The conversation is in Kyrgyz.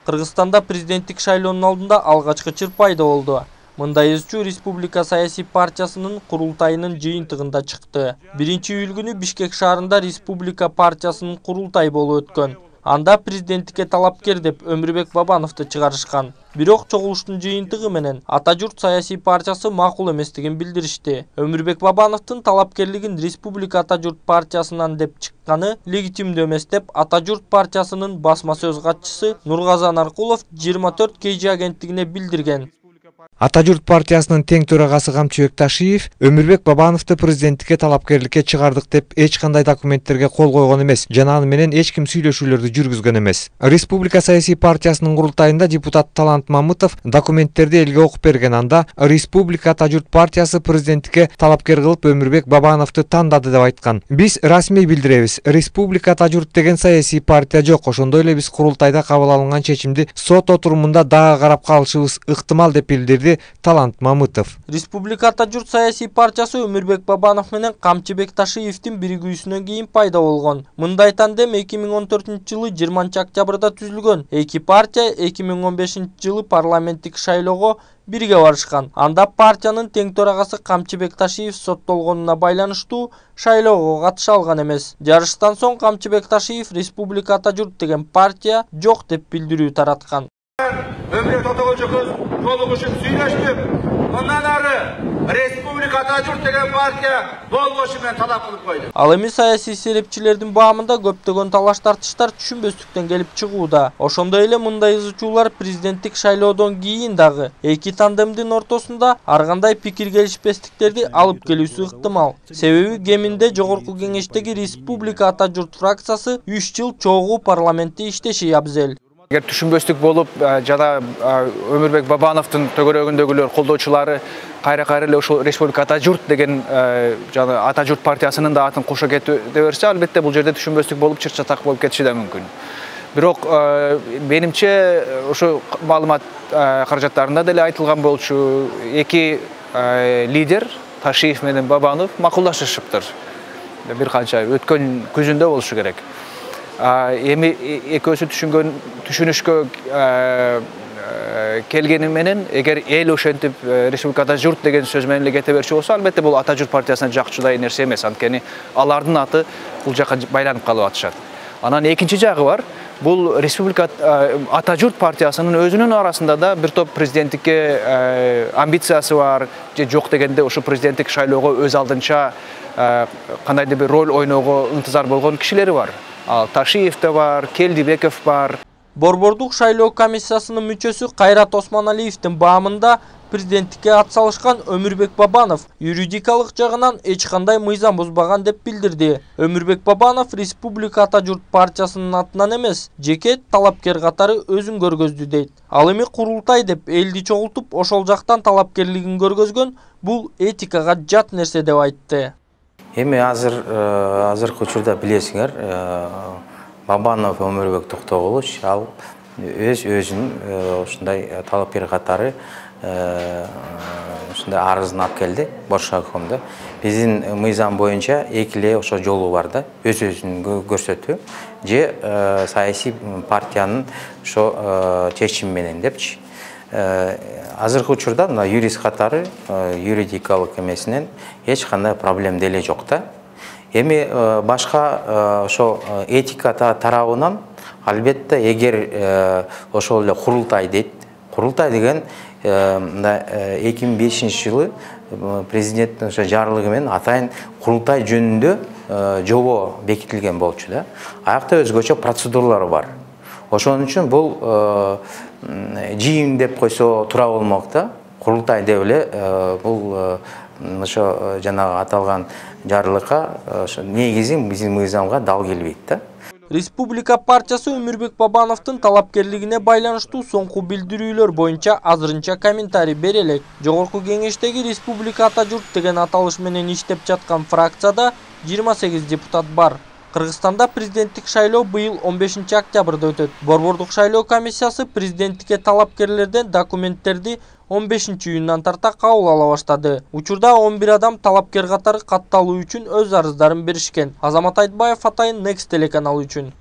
Кыргызстанда президенттик шайлоонун алдында алгачкы чыр пайда болду. Мындай изчүү Республика саясий партиясынын курултайынын жыйынтыгында чыкты. 1-июль күнү Бишкек шаарында Республика партиясынын курултай болуп өткөн. Анда президенттикке талапкер деп Өмүрбек Бабановду чыгарышкан. Бирок чогулуштун жыйынтыгы менен Ата журт саясий партиясы макул эместигин билдиришти. Өмүрбек Бабановдун талапкерлигин Республика Ата журт партиясынан деп чыкканы легитимдүү эмес деп Ата журт партиясынын басма сөз катчысы Нургазан Аркулов 24 KG агенттигине билдирген. Ата журт партиясынын тең төрагасы Камчыбек Ташиев Өмүрбек Бабановду президенттикке талапкерликке чыгардык деп эч кандай документтерге кол койгон эмес жана аны менен эч ким сүйлөшүүлөрдү жүргүзгөн эмес. Республика саясий партиясынын курултайында депутат Талант Мамытов документтерди элге окуп берген. Анда Республика Ата журт партиясы президенттикке талапкер кылып Өмүрбек Бабановду тандады деп айткан. Биз расмий билдиребиз. Республика Ата журт деген саясий партия жок. Ошондой эле биз курултайда кабыл алынган чечимди сот отурумунда дагы карап калышыбыз ыктымал деп билдирди Талант Мамытов. Республика Ата журт саясий партиясы Өмүрбек Бабанов менен Камчыбек Ташиевдин биригүүсүнөн кийин пайда болгон. Мындай тандем 2014-жылы 20 октябрда түзүлгөн. Эки партия 2015-жылы парламенттик шайлоого бирге барышкан. Анда партиянын тең төрагасы Камчыбек Ташиев соттолгонуна байланыштуу шайлоого катыша алган эмес. Жарыштан соң Камчыбек Ташиев Республика Ата журт деген партия жок деп билдирүү тараткан. Өмүрбек Тотогожокуз жолугушуп сүйлөштүк. Мындан ары Республика Ата журт деген партия болбошу менен талап кылып койду. Ал эми саясий серепчилердин баамында көптөгөн талаш тартыштар түшүнбөстүктөн келип чыгууда. Ошондой эле мындай изучуулар президенттик шайлоодон кийин дагы эки тандемдин ортосунда ар кандай пикир келишпестиктерди алып келүүсү ыктымал. Себеби кеминде жогорку кеңештеги Республика Ата журт фракциясы 3 жыл чогуу парламентте иштеши абзел. Эгер түшүнбөстүк болуп жана Өмүрбек Бабановдун төгөрөгүндөгүлөр колдоочулары кайра эле ошол Республика Ата журт деген жана Ата журт партиясынын да атын кошо кете берсе, албетте бул жерде түшүнбөстүк болуп чыр-чатак болуп кетиши да мүмкүн. Бирок менимче ошо маалымат каражаттарында деле айтылган болчу, эки лидер Ташиев менен Бабанов макулдашышыптыр. Бир канча өткөн күзүндө болушу керек. Эми экөөсү түшүнүшкө келгени менен эгер эл ошентип Республика Ата журт деген сөз менен эле кете берчү болсо, албетте бул Ата журт партиясына жакчудай нерсе эмес, анткени алардын аты бул жака байланып калып атышат. Анан экинчи жагы бар. Бул Республика Ата журт партиясынын өзүнүн арасында да бир топ президенттикке амбициясы бар, же жок дегенде ошо президенттик шайлоого өз алдынча кандайдыр бир роль ойноого ынтызар болгон кишилери бар. Ташиев да бар, Келдибеков бар. Борбордук шайлоо комиссиясынын мүчөсү Кайрат Осмоналиевдин баамында президенттикке ат салышкан Өмүрбек Бабанов юридикалык жагынан эч кандай мыйзам бузбаган деп билдирди. Өмүрбек Бабанов Республика Ата журт партиясынын атынан эмес, жеке талапкер катары өзүн көргөздү дейт. Ал эми курултай деп элди чогултуп, ошол жактан талапкерлигин көргөзгөн, бул этикага жат нерсе деп айтты. Эми азыркы учурда билесиңер, Бабанов Өмүрбек Токтогулович ал өзүнүн ушундай талапкер катары ушундай арызын алып келди Боршаковдо. Биздин мыйзам боюнча эки эле ошо жолу бар да, өзүн көрсөтүү же саясий партиянын ошо чечими менен депчи. Азыркы учурда мына юрист катары юридикалык эмесинен эч кандай проблема деле жок да. Эми башка ошо этика тарабынан албетте эгер ошол эле курултай дейт. Курултай деген 2005-жылы президенттин ошо жарлыгы менен атайын курултай жөнүндө жобо бекитилген болчу да. Аякта өзгөчө процедуралар бар. Ошон үчүн бул жыйын деп койсо туура болмок да. Курултай деп эле бул ошо жанагы аталган жарлыкка ошо негизи биздин мыйзамга дал келбейт да. Республика партиясы Өмүрбек Бабановдун талапкерлигине байланыштуу соңку билдирүүлөр боюнча азырынча комментарий бере элек. Жогорку кеңештеги Республика Ата журт деген аталыш менен иштеп жаткан фракцияда 28 депутат бар. Кыргызстанда президенттик шайлоо быйыл 15 октябрда өтөт. Борбордук шайлоо комиссиясы президенттикке талапкерлерден документтерди 15 июндан тарта кабыл ала баштады. Учурда 11 адам талапкер катары катталуу үчүн өз арыздарын беришкен. Азамат Айтбаев, Атайын, Next телеканалы үчүн.